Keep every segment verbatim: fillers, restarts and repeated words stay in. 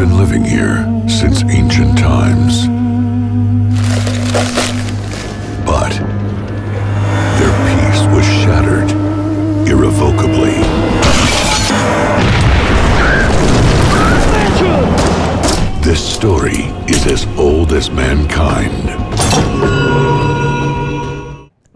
been living here since ancient times. But their peace was shattered irrevocably. This story is as old as mankind.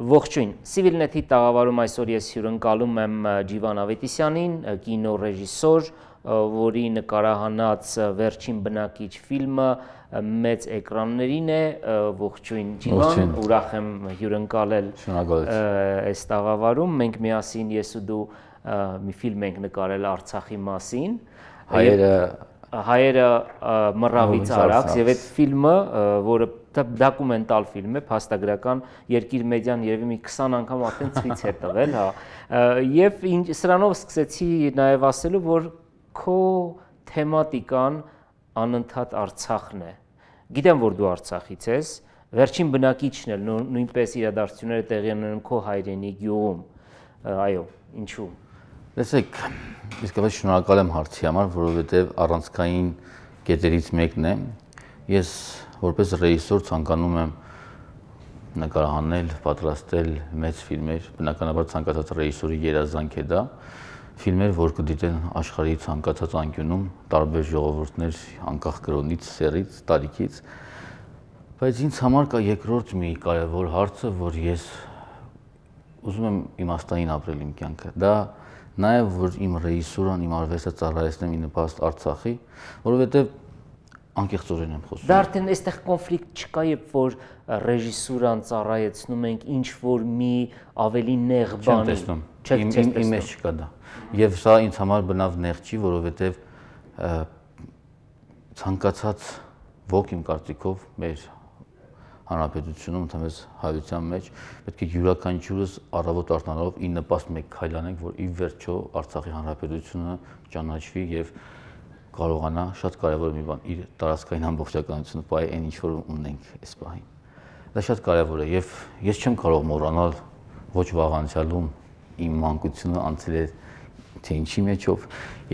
Ողջույն, Civilnet-ի տաղավարում այսօր ես հյուրընկալում եմ Ջիվան Ավետիսյանին, կինոռեժիսոր, որի նկարահանած Վերջին բնակիչ ֆիլմը մեծ էկրաններին է, ողջույն Ջիվան, ուրախ եմ հյուրընկալել այս տաղավարում, մենք միասին ես ու դու մի ֆիլմ ենք նկարել Արցախի մասին, հայերը հայերը մռավից արաքս եւ այդ ֆիլմը, որը դոկումենտալ ֆիլմ է, փաստագրական, Երկիր մեդիան երևի մի քսան անգամ արդեն ցույց է տվել, հա։ Եվ սրանով սկսեցի նաեւ ասելու, որ քո թեմատիկան անընդհատ Արցախն է։ Գիտեմ, որ դու Արցախից ես, Վերջին բնակիչն էլ նույնպես իրադարձությունները տեղի են ունենում քո հայրենի գյուղում։ Այո, ինչու՞։ Տեսեք, իսկապես շնորհակալ եմ հարցի համար, որովհետև առանցքային կետերից մեկն է։ Ես որպես ռեժիսոր ցանկանում եմ նկարահանել, պատրաստել մեծ ֆիլմեր, բնականաբար ցանկացած ռեժիսորի երազանք է դա, ֆիլմեր, որ կդիտեն աշխարհի ցանկացած անկյունում, տարբեր ժողովուրդներ, անկախ կրոնից, սեռից, տարիքից, բայց ինձ համար կա երկրորդ մի կարևոր հարցը, որ ես ուզում եմ իմաստային ապրել իմ կյանքը։ Դա նաև որ իմ ռեժիսուրան, իմ արվեստը ծառայեցնեմ ի նպաստ Արցախի, որովհետև անկեղծորեն եմ խոսում։ Դա արդեն այստեղ կոնֆլիկտ չկա, երբ որ ռեժիսուրան ծառայեցնում ենք ինչ որ մի ավելի նեղ բանի։ Չեմ տեսնում։ Իմ մեջ չկա դա։ Եվ սա ինձ համար բնավ նեղ չի, որովհետև ցանկացած ոք իմ կարծիքով մեր հանրապետությունում, ընդհանրապես հայության մեջ պետք է յուրաքանչյուրս առավոտ արթնանալով ի նպաստ մեկ քայլ անենք, որ ի վերջո Արցախի հանրապետությունը ճանաչվի եւ կարողանա շատ կարեւոր մի բան իր տարածքային ամբողջականությունը պահի այն ինչ որ ունենք այս պահին։ Դա շատ կարեւոր է եւ ես չեմ կարող մոռանալ ոչ վաղ անցյալում իմ մանկությունը անցել է թե ինչի մեջով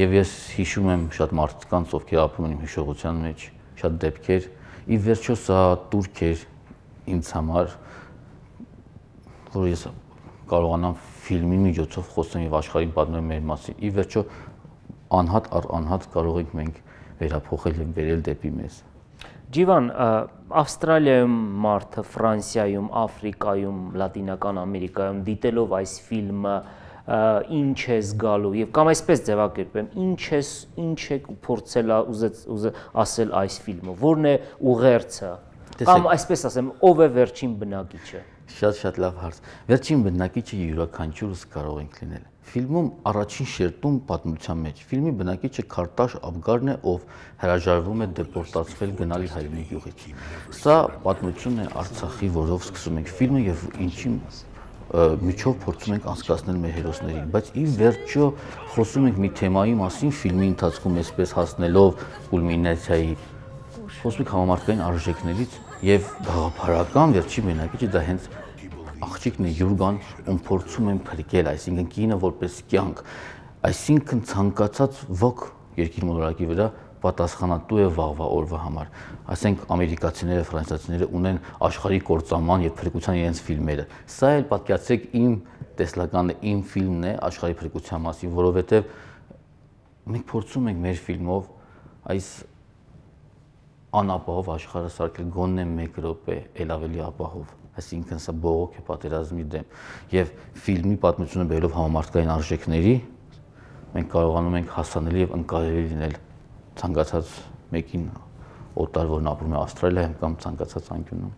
եւ ես հիշում եմ շատ մարդկանց, ովքեր ապրում են իմ հիշողության մեջ, շատ դեպքեր, ի վերջո սա տուրք էր ինձ համար, որ ես կարողանամ ֆիլմի միջոցով խոսեմ եւ աշխարհին պատմեմ մեր մասին։ Ի վերջո անհատ առ անհատ կարող ենք մենք վերափոխել եւ բերել դեպի մեզ։ Ջիվան, Ավստրալիայում մարդը, Ֆրանսիայում, Աֆրիկայում, Լատինական Ամերիկայում դիտելով այս ֆիլմը ինչ է զգալու եւ կամ այսպես ձևակերպեմ, ինչ է ինչ է փորձել ասել այս ֆիլմը, որն է ուղերձը, կամ այսպես ասեմ, ով է վերջին բնակիչը։ Շատ-շատ լավ հարց։ Վերջին բնակիչը յուրաքանչյուրս կարող ենք լինել։ Ֆիլմում առաջին շերտում պատմության մեջ ֆիլմի բնակիչը Քարտաշ Աբգարն է, ով հրաժարվում է դեպորտացվել գնալ իր հայրենի գյուղից։ Սա պատմությունն է Արցախի, որով սկսում ենք ֆիլմը եւ ինչին միջով փորձում ենք անցկացնել մեր հերոսներին, բայց ի վերջո խոսում ենք մի թեմայի մասին ֆիլմի ընթացքում այսպես հասնելով կուլմինացիայի, խոսում ենք համամարտկային արժեքներից եւ գաղափարական վերջի բնակիչը դա հենց աղջիկն է Յուրգան, ում փորձում են փրկել, այսինքն կինը որպես կյանք, այսինքն ցանկացած ոք երկիր մոլորակի վրա պատասխանատու է վաղվա օրվա համար։ Ասենք ամերիկացիները, ֆրանսիացիները ունեն աշխարհի կործանման եւ փրկության իրենց ֆիլմերը։ Սա էլ պատկերացրեք իմ տեսլականն է, իմ ֆիլմն է աշխարհի փրկության մասին, որովհետեւ մենք փորձում ենք մեր ֆիլմով այս անապահով աշխարհը սարքել գոնե մեկ րոպե, ել ավելի ապահով։ Այսինքն սա բողոք է պատերազմի դեմ եւ ֆիլմի պատմությունը բերելով համամարտկային արժեքների մենք կարողանում ենք հասանելի եւ ընկալելի լինել ցանկացած մեկին օտար, որն ապրում է Ավստրալիայում կամ ցանկացած անկյունում։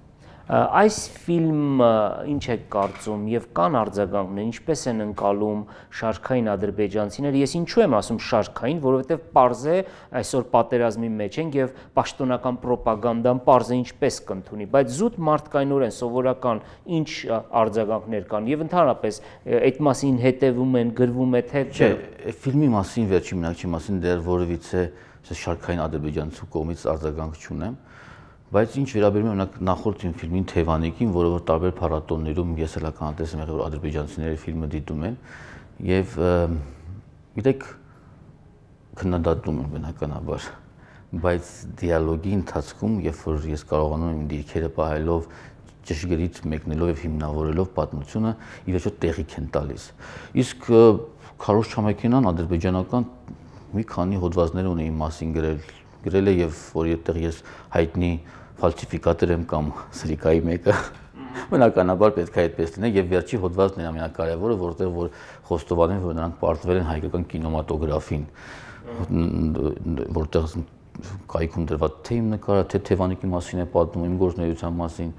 Այս ֆիլմը ինչ է կարծում եւ կան արձագանքներ, ինչպես են ընկալում շարքային ադրբեջանցիները։ Ես ինչու եմ ասում շարքային, որովհետեւ պարզ է այսօր պատերազմի մեջ ենք եւ պաշտոնական ռոպագանդան պարզ է ինչպես կընդունի, բայց զուտ մարդկայնորեն սովորական ինչ արձագանքներ կան եւ ընդհանրապես այդ մասին հետեւում են, գրվում է թե չէ։ Ֆիլմի մասին վերջին բնակչի մասին դեռ որևիցե շարքային ադրբեջանցու կողմից արձագանք չունեմ, բայց ինչ վերաբերում է նախորդ իմ ֆիլմին Թևանիկին, որը որ տարբեր փառատոներում ես էլ ականատես եմ եղել, որ ադրբեջանցիները ֆիլմը դիտում են եւ գիտեք քննադատում են բնականաբար բայց դիալոգի ընթացքում, երբ որ ես կարողանում եմ դիրքերը պահելով ճշգրիտ մեկնելով եւ հիմնավորելով պատմությունը, ի վերջո տեղիք են տալիս։ Իսկ Քարոզ Չամեքենան ադրբեջանական մի քանի հոդվածներ ունի իմ մասին գրել, գրել է եւ որ այդտեղ ես հայտնի ֆալսիֆիկատոր եմ կամ սրիկայի մեկը, բնականաբար պետք է այդպես լինի եւ վերջի հոդվածն է ամենակարևորը, որտեղ որ խոստովանել, որ նրանք պարտվել են հայկական կինեմատոգրաֆին, որտեղ կայքում դրված թե իմ նկարը, թե Թևանիկի մասին է պատմում, իմ գործունեության մասին,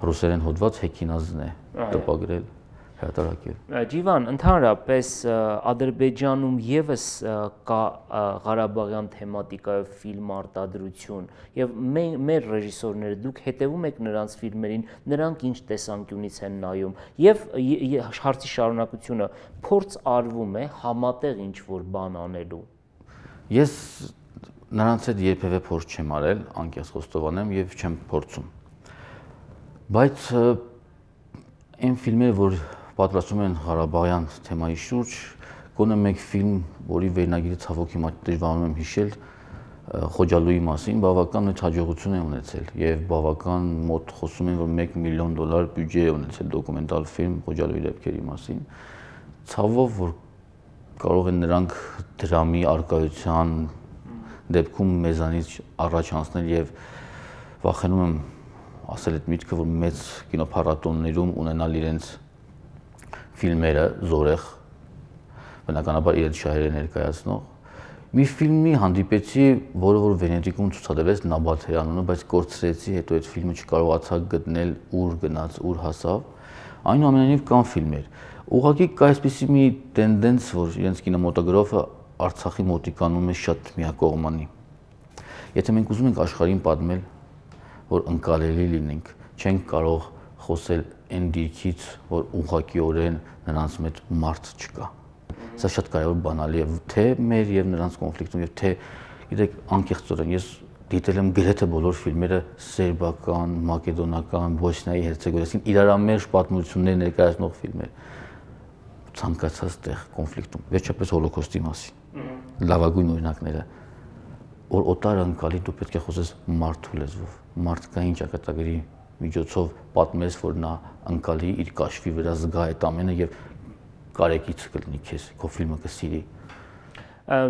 ռուսերեն հոդված Հեքինազն է տպագրել, հրատարակել։ Ջիվան, ընդհանրապես Ադրբեջանում եւս կա Ղարաբաղյան թեմատիկայով ֆիլմ արտադրություն եւ մեր ռեժիսորները դուք հետեւում եք նրանց ֆիլմերին, նրանք ինչ տեսանկյունից են նայում եւ հարցի շարունակությունը փորձ արվում է համատեղ ինչ որ բան անելու։ Ես նրանց հետ երբևէ փորձ չեմ արել, անկեղծ խոստովանեմ եւ չեմ փորձում։ Բայց այն ֆիլմերը, որ պատրաստում են Ղարաբաղյան թեմայի շուրջ, գոնե մեկ ֆիլմ, որի վերնագիրը ցավոք հիմա դժվարանում եմ հիշել, Խոջալույի մասին, բավական մեծ հաջողություն է ունեցել եւ բավական մոտ խոսում են, որ մեկ միլիոն դոլար բյուջե է ունեցել դոկումենտալ ֆիլմ Խոջալույի դեպքերի մասին։ Ցավով, որ կարող են նրանք դրամի արկայության դեպքում մեզանից առաջ անցնել եւ վախենում եմ ասել այդ միտքը, որ մեծ կինոփառատոններում ունենալ իրենց ֆիլմերը զորեղ, բնականաբար իրենց շահերը ներկայացնող։ Մի ֆիլմի հանդիպեցի, որը որ Վենետիկում ցուցադրվեց Նաբաթեի անունը, բայց կորցրեցի, հետո այդ ֆիլմը չկարողացա գտնել ուր գնաց, ուր հասավ։ Այնուամենայնիվ կան ֆիլմեր։ Ուղղակի կա այսպիսի մի տենդենս, որ իրենց կինեմատոգրաֆը Արցախի մոտիկանում է շատ միակողմանի։ Եթե մենք ուզում ենք աշխարհին պատմել, որ ընկալելի լինենք, չենք կարող խոսել այն դիրքից, որ ուղղակիորեն նրանց մեջ մարդ չկա։ Սա շատ կարևոր բանալի է թե մեր եւ նրանց կոնֆլիկտում եւ թե գիտեք անկեղծորեն ես դիտել եմ գրեթե բոլոր ֆիլմերը սերբական, մակեդոնական, բոսնիայի հերցեգովինայի իրարամերժ պատմություններ ներկայացնող ֆիլմեր ցանկացած տեղ կոնֆլիկտում, վերջապես հոլոկոստի մասին։ Լավագույն օրինակները, որ օտար անկալի դու պետք է խոսես մարդու լեզվով, մարդկային ճակատագրի միջոցով պատմես, որ նա անկալի իր կաշվի վրա զգա այդ ամենը եւ կարեկից կլինի քեզ, քո ֆիլմը կսիրի։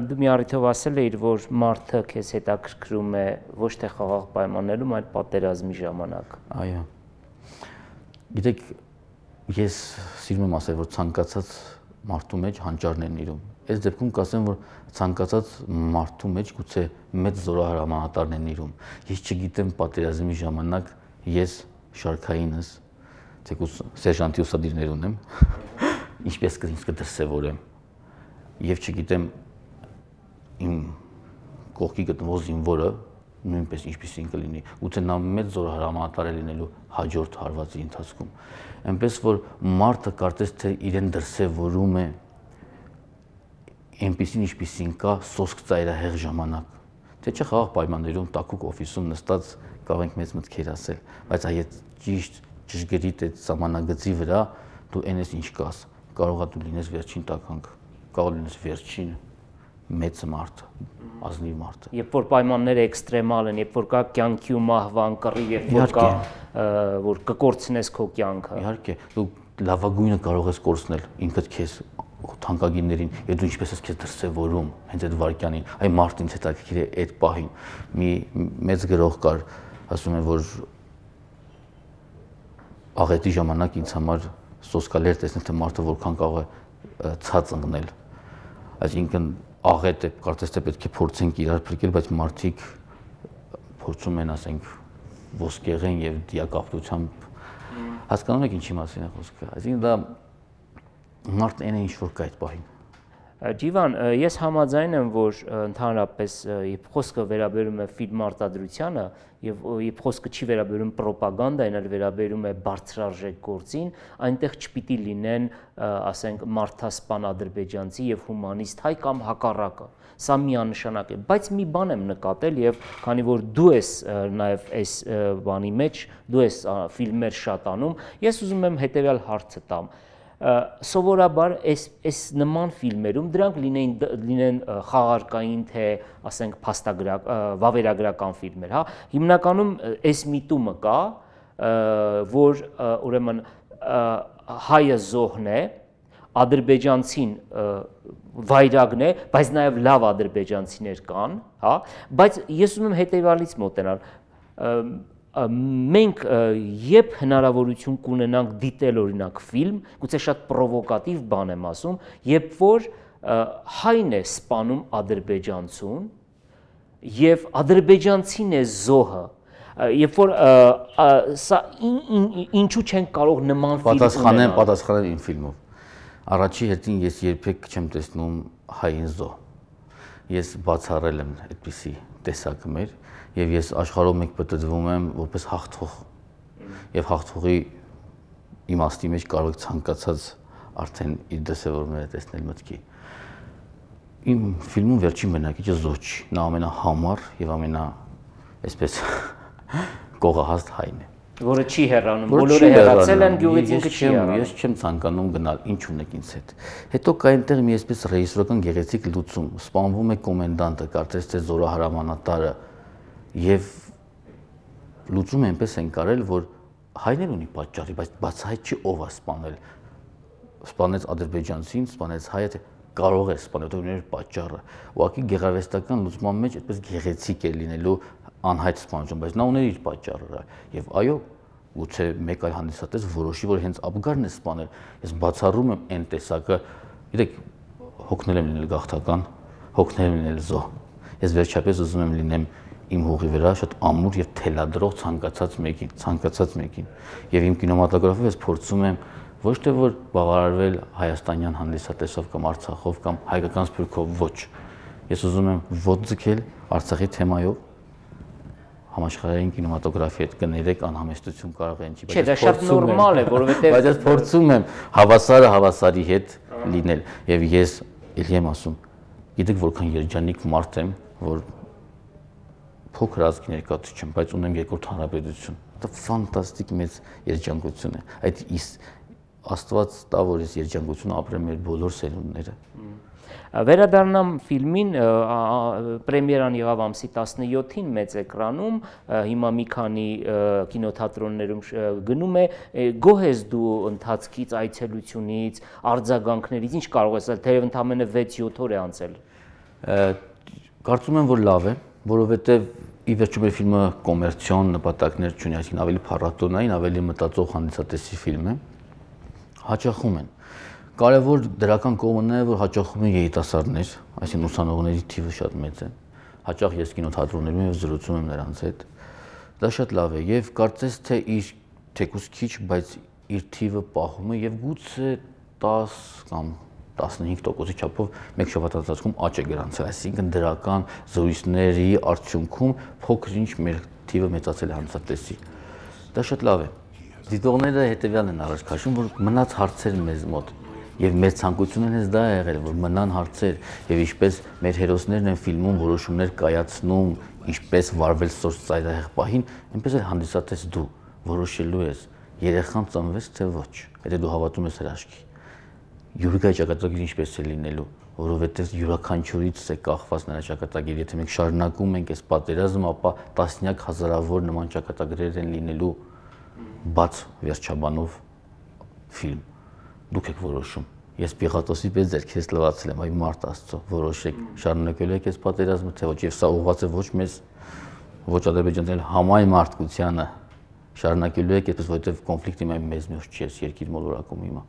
Դու մի առիթով ասել էիր, որ մարդը քեզ հետաքրքրում է ոչ թե խաղաղ պայմաններում, այլ պատերազմի ժամանակ։ Այո։ Գիտեք, ես սիրում եմ ասել, որ ցանկացած մարդու մեջ հանճարն են իրում։ Այս դեպքում կասեմ, որ ցանկացած մարդու մեջ գուցե մեծ զորահրամանատարն են իրում։ Ես չգիտեմ պատերազմի ժամանակ ես շարքայինս, թեկուզ սերժանտի ուսադիրներ ունեմ, ինչպես ինձ կդրսևորեմ։ Եվ չգիտեմ իմ կողքի գտնվող զինվորը նույնպես ինչպեսին կլինի, գուցե նա մեծ զորահրամանատար է լինելու հաջորդ հարվածի ընթացքում։ Այնպես որ մարդը կարծես թե իրեն դրսևորում է այնպեսին ինչպեսին կա սոսկ ծայրահեղ ժամանակ։ Թե չէ խաղաղ պայմաններում տակուկ օֆիսում նստած կարող ենք մեծ մտքեր ասել, բայց այդ ճիշտ ճշգրիտ այդ սահմանագծի վրա դու այն ես ինչ կաս, կարող է դու լինես վերջին տականք, կարող լինես վերջին մեծ մարդ, ազնիվ մարդ։ Երբ որ պայմանները էքստրեմալ են, երբ որ կա կյանքի ու մահվան կռիվ, երբ որ կա որ կկորցնես քո կյանքը։ Իհարկե, դու լավագույնը կարող ես կորցնել ինքդ քեզ թանկագիններին, եւ դու ինչպես ես քեզ դրսևորում հենց այդ վարքյանին, այ մարդը ինձ հետաքրքիր է այդ պահին։ Մի մեծ գրող կար, ասում է, որ աղետի ժամանակ ինձ համար սոսկալի էր տեսնել, թե մարդը որքան կարող է ցած ընկնել։ Այսինքն աղետ է, կարծես թե պետք է փորձենք իրար փրկել, բայց մարդիկ փորձում են, ասենք, ոսկեղեն եւ դիակապտությամբ հասկանում եք ինչի մասին է խոսքը։ Այսինքն դա մարդն այն է ինչ որ կա այդ պահին։ Ջիվան, ես համաձայն եմ, որ ընդհանրապես երբ խոսքը վերաբերում է ֆիլմ արտադրությանը եւ երբ խոսքը չի վերաբերում ռոպագանդային, այլ վերաբերում է բարձրարժեք գործին, այնտեղ չպիտի լինեն, ասենք, մարդասպան ադրբեջանցի եւ հումանիստ հայ կամ հակառակը։ Սա միանշանակ է, բայց մի բան եմ նկատել եւ քանի որ դու ես նաեւ այս բանի մեջ, դու ես ֆիլմեր շատ անում, ես ուզում եմ հետեւյալ հարցը տամ։ սովորաբար այս այս նման ֆիլմերում դրանք լինեն լինեն խաղարկային թե ասենք փաստագրակ վավերագրական ֆիլմեր, հա, հիմնականում այս միտումը կա, որ ուրեմն հայը զոհն է, ադրբեջանցին վայրագն է, բայց նաև լավ ադրբեջանցիներ կան, հա, բայց ես ուզում եմ հետևյալից մոտենալ, մենք երբ հնարավորություն կունենանք դիտել օրինակ ֆիլմ, գուցե շատ պրովոկատիվ բան եմ ասում, երբ որ հայն է սպանում ադրբեջանցուն եւ ադրբեջանցին է զոհը, երբ որ սա ինչու չեն կարող նման ֆիլմ պատասխանեմ, պատասխանեմ իմ ֆիլմով։ Առաջի հետին ես երբեք չեմ տեսնում հային զոհ։ Ես բացառել եմ այդպիսի տեսակը մեր եւ ես աշխարհով մեկ պատտվում եմ որպես հաղթող եւ հաղթողի իմաստի մեջ կարող եք ցանկացած արդեն իր դրսևորումները տեսնել մտքի։ Իմ ֆիլմում վերջին բնակիչը զոհ չի, նա ամենահամար եւ ամենա այսպես կողահաստ հայն է, որը չի հեռանում, բոլորը հեռացել են գյուղից, ինքը չի հեռանում։ Ես չեմ ցանկանում գնալ, ինչ ունեք ինձ հետ։ Հետո կա այնտեղ մի այսպես ռեժիսորական գեղեցիկ լուծում, սպանվում է կոմենդանտը, կարծես թե զորահրամանատարը եւ լուծում այնպես են կարել, որ հայներ ունի պատճառի, բայց բացահայտ չի ով է սպանել։ Սպանեց ադրբեջանցին, սպանեց հայը, թե կարող է սպանել, որտեղ ուներ պատճառը։ Ուղղակի գեղարվեստական լուծման մեջ այդպես գեղեցիկ է լինելու անհայտ սպանություն, բայց նա ուներ իր պատճառը։ Եվ այո, գուցե մեկ այլ հանդիսատես որոշի, որ հենց Աբգարն է սպանել։ Ես բացառում եմ այն տեսակը, գիտեք, հոգնել եմ լինել գաղթական, հոգնել եմ լինել զոհ։ Ես վերջապես ուզում եմ լինեմ իմ հողի վրա շատ ամուր եւ թելադրող ցանկացած մեկին, ցանկացած մեկին։ Եվ իմ կինեմատոգրաֆով ես փորձում եմ ոչ թե որ բավարարվել հայաստանյան հանդիսատեսով կամ Արցախով կամ հայկական սփյուռքով, ոչ։ Ես ուզում եմ ոտ ձգել Արցախի թեմայով համաշխարհային կինեմատոգրաֆի հետ կներեք անհամեստություն կարող է ինչի, բայց դա շատ նորմալ է, որովհետեւ բայց ես փորձում եմ հավասարը հավասարի հետ լինել եւ ես ելի եմ ասում, գիտեք որքան երջանիկ մարդ եմ, որ փոքր ազգի ներկայացուցիչ չեմ, բայց ունեմ երկրորդ հանրապետություն։ Դա ֆանտաստիկ մեծ երջանկություն է։ Այդ Աստված տա, որ ես երջանկություն ապրեմ մեր բոլոր սերունդները։ Վերադառնամ ֆիլմին, պրեմիերան եղավ ամսի տասնյոթին մեծ էկրանում, հիմա մի քանի կինոթատրոններում գնում է, գոհ ես դու ընթացքից, այցելությունից, արձագանքներից, ինչ կարող ես ասել, թեև ընդամենը վեց-յոթ օր է անցել։ Կարծում եմ, որ լավ է, որովհետև ի վերջո մեր ֆիլմը կոմերցիոն նպատակներ չունի, այսինքն ավելի փառատոնային, ավելի մտածող հանդիսատեսի ֆիլմ է, հաճախում են։ Կարևոր դրական կողմն է, որ հաճախում են երիտասարդներ, այսինքն ուսանողների թիվը շատ մեծ է։ Հաճախ ես կինոթատրոններում եւ զրուցում եմ նրանց հետ։ Դա շատ լավ է եւ կարծես թե իր թեկուզ քիչ, բայց իր թիվը պահում է եւ գուցե տաս կամ տասնհինգ տոկոսի չափով մեկ շաբաթ ընթացքում աճ է գրանցել, այսինքն դրական զրույցների արդյունքում փոքր-ինչ մեր թիվը մեծացել է հանդիսատեսի։ Դա շատ լավ է։ Դիտողները հետեւյալն են առաջ քաշում, որ մնաց հարցեր մեզ մոտ, եւ մեր ցանկությունն է դա եղել, որ մնան հարցեր, եւ ինչպես մեր հերոսներն են ֆիլմում որոշումներ կայացնում, ինչպես վարվել սոց ծայրահեղ պահին, այնպես էլ հանդիսատես դու որոշելու ես երեխան ծնվեց թե ոչ, եթե դու հավատում ես հրաշքի։ Յուրիկայի ճակատագիրը ինչպես է լինելու, որովհետև յուրաքանչյուրից է կախված նրա ճակատագիրը, եթե մենք շարունակում ենք այս պատերազմը, ապա տասնյակ հազարավոր նման ճակատագրեր են լինելու բաց վերջաբանով ֆիլմ։ Դուք եք որոշում։ Ես Պիղատոսի պես ձեր քեզ լվացել եմ, այ մարդ Աստծո, որոշեք, շարունակելու եք այս պատերազմը, թե ոչ, եւ սա ուղղված է ոչ մեզ, ոչ ադրբեջանցիների համայն մարդկությանը, շարունակելու եք, այդպես որովհետև կոնֆլիկտի մեզ մեջ չի, այս երկիր մոլորակում հիմա։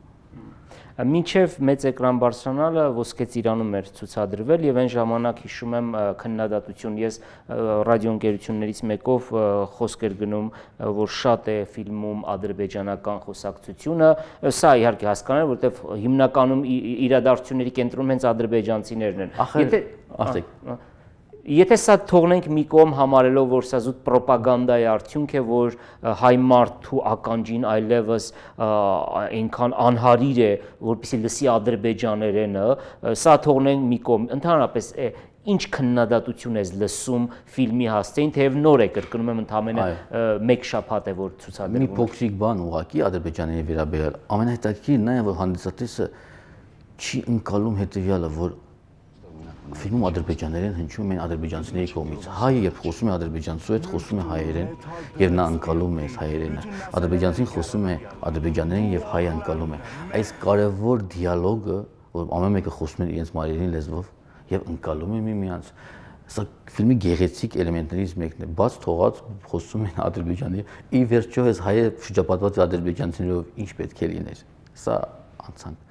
Մինչև մեծ էկրան բարձրանալը Ոսկե ծիրանում էր ցուցադրվել եւ այն ժամանակ հիշում եմ քննադատություն, ես ռադիոընկերություններից մեկով խոսք էր գնում, որ շատ է ֆիլմում ադրբեջանական խոսակցությունը, սա իհարկե հասկանալի, որովհետեւ հիմնականում իրադարձությունների կենտրոնում հենց ադրբեջանցիներն են։ Եթե ասեք Եթե սա թողնենք մի կողմ համարելով, որ սա զուտ պրոպագանդայի արդյունք է, որ հայ մարդու ականջին այլևս այնքան անհարիր է, որպեսզի լսի ադրբեջաներենը, սա թողնենք մի կողմ։ Ընդհանրապես ինչ քննադատություն ես լսում ֆիլմի հասցեին, թեև նոր է, կրկնում եմ, ընդամենը մեկ շաբաթ է որ ցուցադրվում։ Մի փոքրիկ բան ուղղակի Ադրբեջանի վերաբերյալ ամենահետաքրքիրն այն է, որ հանդիսատեսը չի ընկալում հետեւյալը, որ ֆիլմում ադրբեջաներեն հնչում են ադրբեջանցիների կողմից։ Հայը երբ խոսում է ադրբեջանցու հետ, խոսում է հայերեն, եւ նա ընկալում է հայերենը։ Ադրբեջանցին խոսում է ադրբեջաներեն եւ հայը ընկալում է։ Այս կարևոր դիալոգը, որ ամեն մեկը խոսում է իրենց մայրենի լեզվով եւ ընկալում է միմյանց, սա ֆիլմի գեղեցիկ էլեմենտներից մեկն է։ Բաց թողած խոսում են ադրբեջանի, ի վերջո այս հայը շրջապատված է ադրբեջանցիներով, ինչ պետք է լիներ։ Սա անցանք։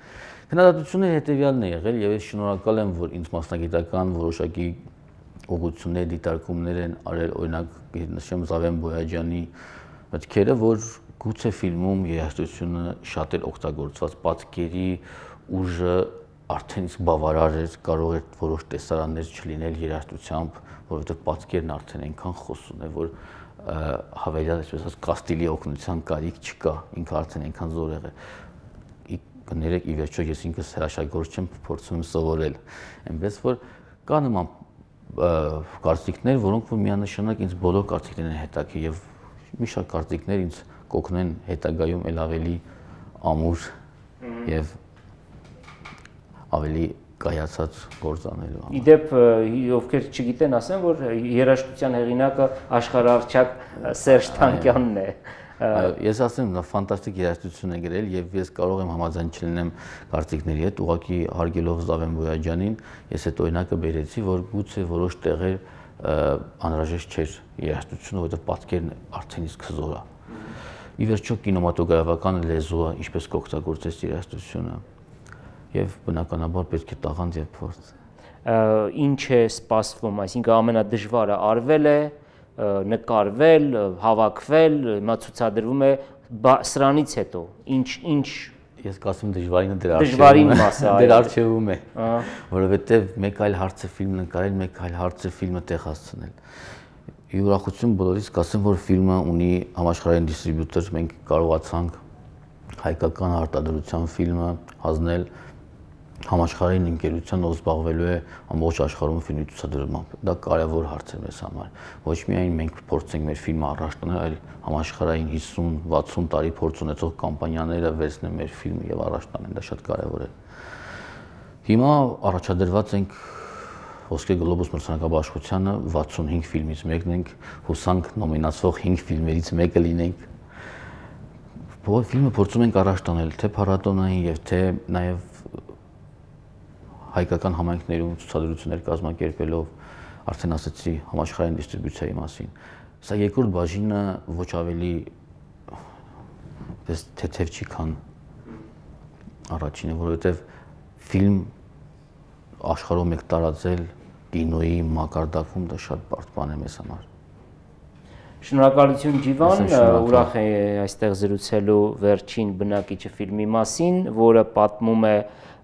Քննադատությունները հետևյալն է եղել եւ ես շնորհակալ եմ, որ ինձ մասնագիտական որոշակի ուղղություններ, դիտարկումներ են արել, օրինակ նշեմ Զավեն Բոյաջյանի մտքերը, որ գուցե ֆիլմում երաժշտությունը շատ էր օգտագործված, պատկերի ուժը արդեն իսկ բավարար էր, կարող էր որոշ տեսարաններ չլինել երաժշտությամբ, որովհետեւ պատկերն արդեն այնքան խոսուն է, որ հավելյալ այսպես ասած կաստիլի օգնության կարիք չկա, ինքը արդեն այնքան զորեղ է։ Կներեք, ի վերջո ես ինքս հրաշագործ չեմ, փորձում եմ սովորել, այնպես որ կա նման կարծիքներ, որոնք որ միանշանակ ինձ բոլոր կարծիքներն են հետաքրքիր եւ մի շարք կարծիքներ ինձ կօգնեն հետագայում ել ավելի ամուր եւ ավելի կայացած գործ անելու համար։ Իդեպ ովքեր չգիտեն, ասեմ, որ երաժշտության հեղինակը աշխարհարչակ Սերժ Թանկյանն է։ Ես ասեմ, նա ֆանտաստիկ երաժշտություն է գրել եւ ես կարող եմ համաձայն չլինեմ կարծիքների հետ, ուղղակի հարգելով Զավեն Բոյաջյանին, ես այդ օրինակը բերեցի, որ գուցե որոշ տեղեր անհրաժեշտ չէր երաժշտությունը, որովհետեւ պատկերն արդեն իսկ հզոր է։ Ի վերջո կինեմատոգրաֆական լեզուը ինչպես կօգտագործես երաժշտությունը եւ բնականաբար պետք է տաղանդ եւ փորձ։ Ինչ է սպասվում, այսինքն ամենադժվարը արվել է, նկարվել, հավաքվել, հիմա ցուցադրվում է սրանից հետո ինչ ինչ ես կասեմ դժվարինը դեր դժվարին մասը դեր արժևում է, որովհետեւ մեկ այլ հարց է ֆիլմ նկարել, մեկ այլ հարց է ֆիլմը տեղ հասցնել։ Յուրախություն բոլորիս կասեմ, որ ֆիլմը ունի համաշխարհային դիստրիբյուտոր, մենք կարողացանք հայկական արտադրության ֆիլմը հանձնել համաշխարհային ընկերության, ով զբաղվելու է ամբողջ աշխարհում ֆիլմի ցուցադրմամբ։ Դա կարևոր հարց է մեզ համար։ Ոչ միայն մենք փորձենք մեր ֆիլմը առաջ տանել, այլ համաշխարհային հիսուն վաթսուն տարի փորձ ունեցող կամպանիաները վերցնեն մեր ֆիլմը եւ առաջ տանեն, դա շատ կարևոր է։ Հիմա առաջադրված ենք Ոսկե գլոբուս մրցանակաբաշխությանը վաթսունհինգ ֆիլմից մեկն ենք, հուսանք նոմինացվող հինգ ֆիլմերից մեկը լինենք։ Բոլոր ֆիլմը փորձում ենք առաջ տանել, թե փառատոնային եւ թե նաեւ հայկական համայնքներում ցուցադրություններ կազմակերպելով, արդեն ասացի համաշխարհային դիստրիբյուցիայի մասին։ Սա երկրորդ բաժինը ոչ ավելի թեթև չի, քան առաջինը, որովհետև ֆիլմ աշխարհում եք տարածել կինոյի մակարդակում դա շատ բարդ բան է մեզ համար։ Շնորհակալություն Ջիվան, ուրախ եմ այստեղ զրուցելու վերջին բնակիչը ֆիլմի մասին, որը պատմում է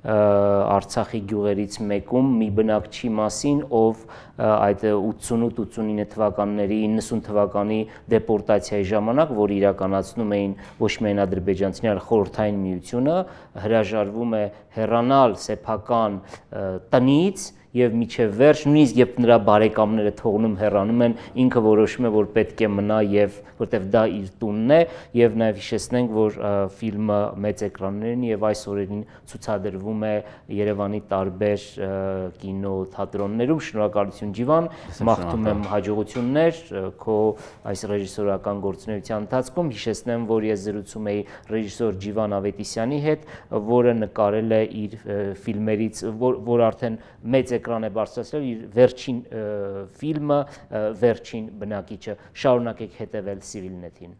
Արցախի գյուղերից մեկում մի բնակչի մասին, ով այդ ութսունութ ութսունինը թվականների իննսուն թվականի դեպորտացիայի ժամանակ, որ իրականացնում էին ոչ միայն ադրբեջանցիները, այլ խորհրդային միությունը, հրաժարվում է հեռանալ սեփական տնից եւ միջև վերջ, նույնիսկ երբ նրա բարեկամները թողնում հեռանում են, ինքը որոշում է, որ պետք է մնա եւ որտեվ դա իր տունն է եւ նաեւ հիշեցնենք, որ ֆիլմը մեծ էկրաններին եւ այս օրերին ցուցադրվում է Երևանի տարբեր կինո թատրոններում։ Շնորհակալություն Ջիվան, մաղթում եմ հաջողություններ քո այս ռեժիսորական գործունեության ընթացքում։ Հիշեցնեմ, որ ես զրուցում էի ռեժիսոր Ջիվան Ավետիսյանի հետ, որը նկարել է իր ֆիլմերից, որ, որ արդեն մեծ էկրան է բարձրացրել իր վերջին ֆիլմը, վերջին բնակիչը։ Շարունակեք հետևել Civilnet-ին։